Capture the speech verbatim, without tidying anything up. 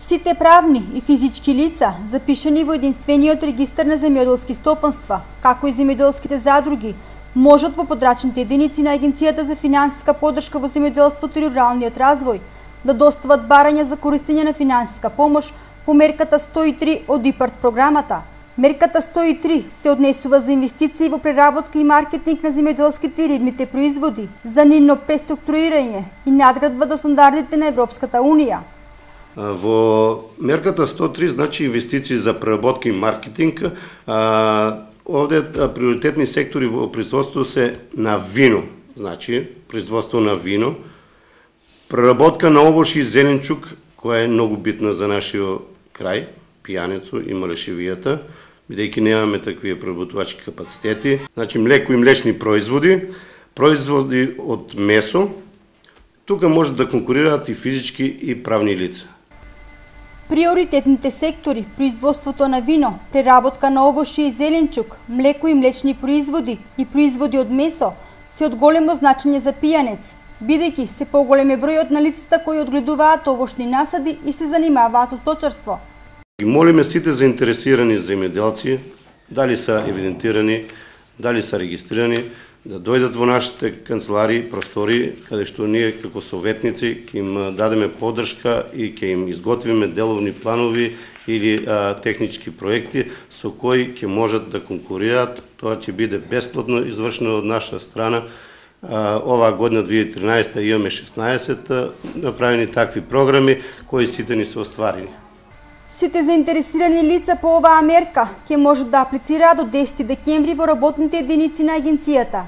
Сите правни и физички лица, запишани во единствениот регистар на земјоделски стопанства, како и земјоделските задруги, можат во подрачните единици на Агенцијата за финансиска поддршка во земјоделството и руралниот развој да достават барања за користење на финансиска помош по мерката сто и три од ИПАРД програмата. Мерката сто и три се однесува за инвестиции во преработка и маркетинг на земјоделските и рибните производи, за нивно преструктурирање и надградба до стандардите на Европската Унија. Во мерката сто и три, значи инвестиции за преработка и маркетинг, овде приоритетни сектори во производството се на вино, значи производство на вино, преработка на овоши и зеленчук, која е многу битна за нашиот крај, Пијанецо и Малешевијата, бидејќи немаме такви преработувачки капацитети, значи млеко и млечни производи, производи од месо, тука може да конкурираат и физички и правни лица. Приоритетните сектори, производството на вино, преработка на овошје и зеленчук, млеко и млечни производи и производи од месо, се од големо значење за Пијанец, бидејќи се поголем е бројот на лицата кои одгледуваат овошни насади и се занимаваат со сточарство. Молиме сите заинтересирани земјоделци, дали се евидентирани, дали се регистрирани, да дојдат во нашите канцеларии, простори, каде што ние како советници ќе им дадеме поддршка и ќе им изготвиме деловни планови или а, технички проекти со кои ќе можат да конкурираат. Тоа ќе биде бесплатно извршено од наша страна. А, оваа година две илјади и тринаесета имаме шеснаесет направени такви програми кои сите ни се остварени. Сите заинтересирани лица по оваа мерка ќе можат да аплицираат до десети декември во работните единици на агенцијата.